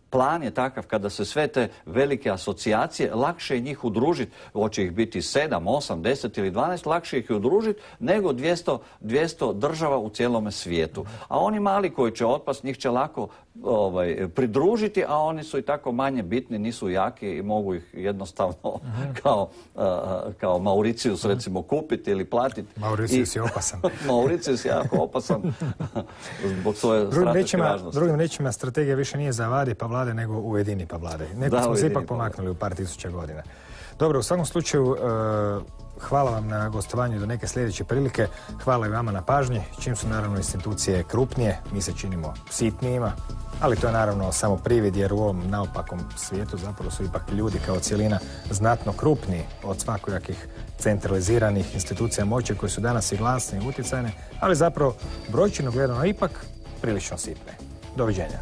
plan je takav kada se sve te velike asocijacije, lakše je njih udružiti, hoće ih biti sedam, osam, deset ili dvanaest, lakše ih je udružiti nego dvjesto, dvjesto država u cijelome svijetu. A oni mali koji će otpast, njih će lako ovaj, pridružiti, a oni su i tako manje bitni, nisu jaki i mogu ih jednostavno uh-huh. kao, uh, kao Mauricius recimo kupiti ili platiti. Mauricius I, je opasan. Mauricius je jako opasan zbog svoje strateške važnosti. Drugim riječima, strategija više nije zavadi pa vlade, nego ujedini pa vlade. Neko da, smo se ipak pomaknuli u par tisuća godina. Dobro, u svakom slučaju, uh, hvala vam na gostovanju do neke sljedeće prilike. Hvala i vama na pažnji. Čim su naravno institucije krupnije, mi se činimo sitnijima, ali to je naravno samo privid, jer u ovom naopakom svijetu zapravo su ipak ljudi kao cijelina znatno krupniji od svakojakih centraliziranih institucija moći koje su danas i glasne i utjecajne, ali zapravo brojčino gledano ipak prilično sitne. Doviđenja.